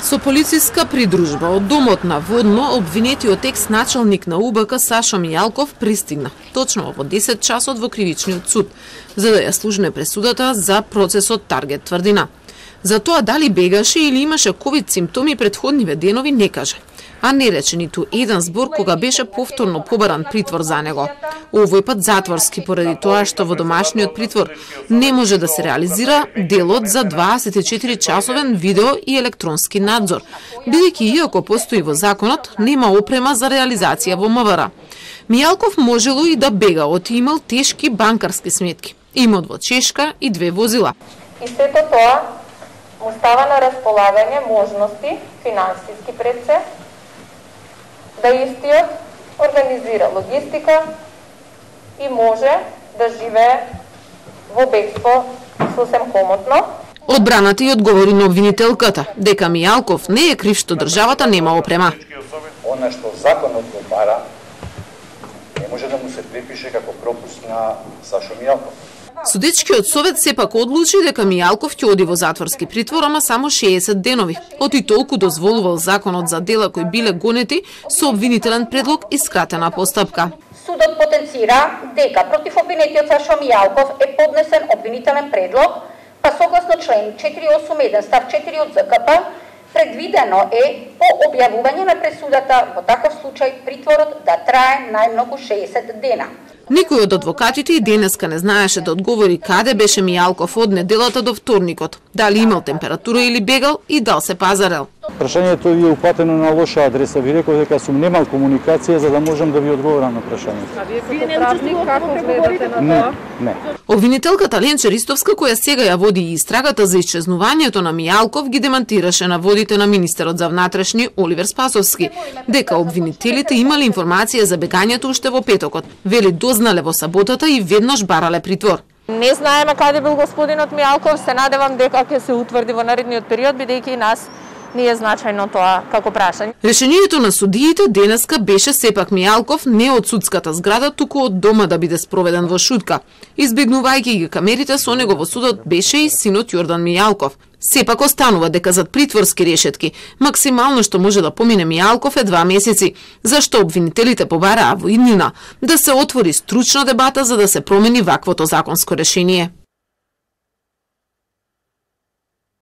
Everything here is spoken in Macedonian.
Со полициска придружба од домот на Водно, обвинетиот екс-началник на УБК Сашо Мијалков пристигна точно во 10 часот во кривичниот суд, за да ја слушне пресудата за процесот Таргет тврдина. За тоа дали бегаше или имаше ковид симптоми претходниве денови не каже, а не рече ниту еден збор кога беше повторно побаран притвор за него. Овој пат затворски поради тоа што во домашниот притвор не може да се реализира делот за 24-часовен видео и електронски надзор, бидејќи иако постои во законот, нема опрема за реализација во МВР. Мијалков можело и да бега, оти имал тешки банкарски сметки, имот во Чешка и 2 возила. И сето тоа му става на располагање можности финансиски пред се, да истиот организира логистика и може да живее во бегство сосем комотно. Одбраната и одговори на обвинителката дека Мијалков не е крив што државата нема опрема. Она што законот го бара не може да му се припише како пропуск на Сашо Мијалков. Судечкиот совет сепак одлучи дека Мијалков ќе оди во затворски притвор, ама само 60 денови. Оти толку дозволувал законот за дела кои биле гонети со обвинителен предлог и скратена постапка. Судот потенцира дека против обвинетиот Сашо Мијалков е поднесен обвинителен предлог, па согласно член 481 став 4 од ЗКП, предвидено е по објавување на пресудата во таков случај притворот да трае најмногу 60 дена. Никој од адвокатите и денеска не знаеше да одговори каде беше Мијалков од неделата до вторникот, дали имал температура или бегал и дал се пазарел. Прашањето ви е упатено на лоша адреса. Ви реков дека сум немал комуникација за да можам да ви одговорам на прашањето. А вие не правник како гледате на тоа? Не. Обвинителката Ленче Ристовска, која сега ја води и истрагата за исчезнувањето на Мијалков, ги демантираше наводите на министерот за внатрешни Оливер Спасовски, дека обвинителите имале информација за бегањето уште во петокот. Вели дознале во саботата и веднаш барале притвор. Не знаеме каде бил господинот Мијалков, се надевам дека ќе се утврди во наредниот период, бидејќи и нас не е значајно тоа како прашање. Решението на судиите денеска беше сепак Мијалков не од судската зграда, туку од дома да биде спроведен во шутка. Избегнувајќи ги камерите, со него во судот беше и синот Јордан Мијалков. Сепак останува дека зад притворски решетки максимално што може да помине Мијалков е 2 месеци, зашто обвинителите побараа во иднина да се отвори стручна дебата за да се промени ваквото законско решение.